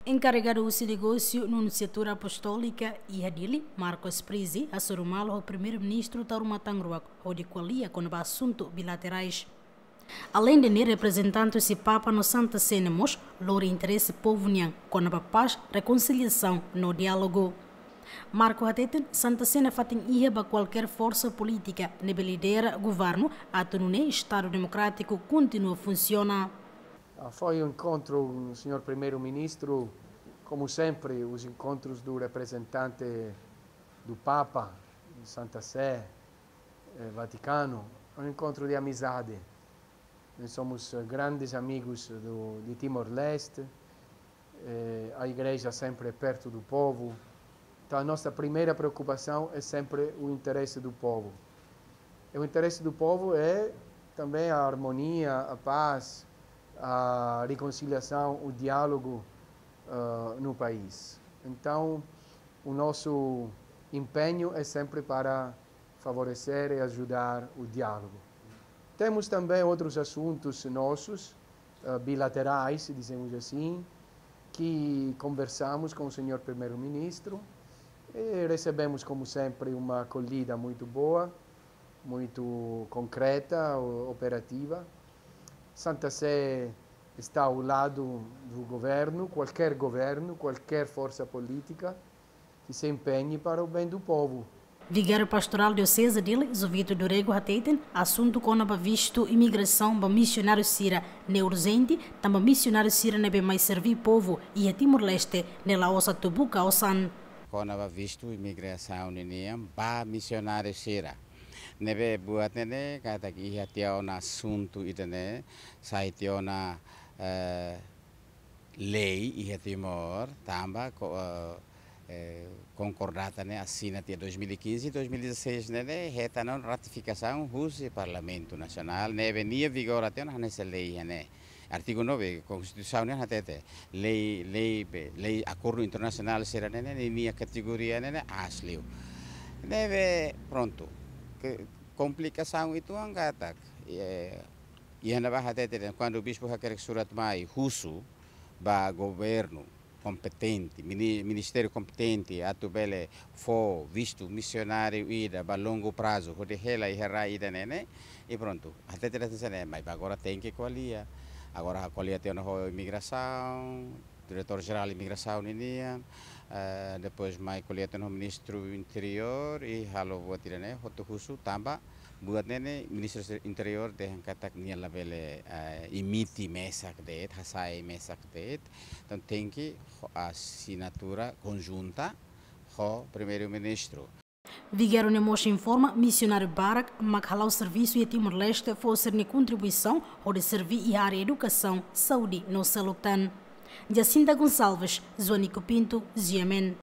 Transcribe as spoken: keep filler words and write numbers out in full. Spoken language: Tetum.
Enkarregadu husi negósiu Nunciatura Apostólica iha Dili, Marcos Prizzi, hasoru malu ho Primeiru-Ministru Taur Matan Ruak hodi ko'alia kona-ba asuntu bilaterais. Aleinde ne'e, reprezentante husi Papa no Santa Sé ne'e mós lori interese povu nian kona-ba pás, rekonsiliasaun no diálogu. Marco hateten, Santa Sé nafatin iha ba kualkér forsa polítika ne'ebé lidera governu atu nune'e Estadu Demokrátiku kontinua funsiona. Ah, foi um encontro, senhor Primeiro-Ministro, como sempre, os encontros do representante do Papa, Santa Sé, eh, Vaticano, é um encontro de amizade. Nós somos, eh, grandes amigos do, de Timor-Leste. Eh, a igreja sempre é perto do povo. Então, a nossa primeira preocupação é sempre o interesse do povo. E o interesse do povo é também a harmonia, a paz, a reconciliação, o diálogo, ah, no país. Então, o nosso empenho é sempre para favorecer e ajudar o diálogo. Temos também outros assuntos nossos, eh, bilaterais, dizemos assim, que conversamos com o senhor Primeiro-Ministro e recebemos, como sempre, uma acolhida muito boa, muito concreta, o-, operativa. Santa Sé está ao lado do governo, qualquer governo, qualquer força política que se empenhe para o bem do povo. Vigáriu Pastorál Dioseze Dili, Jovito do Rego hateten, asuntu kona-ba vistu imigrasaun ba misionáriu sira ne'e urjente, tanba misionáriu sira ne'ebé mai serví povu iha Timor-Leste ne'e la'ós atu buka osan. Kona-ba vistu imigrasaun ninian ba misionáriu sira. Ne'ebé buat ne'e ne'e katak iha tiha ona asuntu ida-ne'e, sai tiha ona, eh, lei iha Timor, tanba ko-, eh, eh, konkordata ne'e asina tiha dois mil e quinze, dois mil e dezasseis ne'e ne'e hetan ona ratifikasaun husi Parlamentu Nasionál, ne'ebé nia vigora tiha ona hanesan lei iha ne'e. Artigu nove, Konstituisaun ne'e hatete, lei, lei be, lei akordu internasionál sira ne'e ne'e, ninia kategoria ne'e ne'e aas liu. Ne'ebé, prontu, ke, komplikasaun uitoan katak, eh, iha ne'ebá hatete, kuandu bispu hakerek surat mai husu ba governu kompetente, mini-, ministériu kompetente, atu bele fó vistu misionáriu ida ba longu prazu, hodi hela iha rai ida-ne'e ne'e, i prontu. Hatete hanesan ne'e, maibé agora tenke ko'alia. Agora ko'alia tiha ona ho imigrasaun, Diretór Jerál Imigrasaun ninian, eh, depois mai ko'alia tiha ona ho Ministru Interiór, i halo buat ida-ne'e, hotu husu tanba buat ne'e ne'e Ministru Interiór dehan katak nia labele, eh, emite mesak de'it, hasai mesak de'it. Entaun tenke ho asinatura konjunta ho Primeiru-Ministru. Vigáriu ne'e mós informa misionáriu barak mak hala'o servisu iha Timor-Leste fó sira-nia kontribuisaun hodi serví iha área edukasaun, saúde no seluk tan. Jacinta Gonçalves, Joanico Pinto, G M N.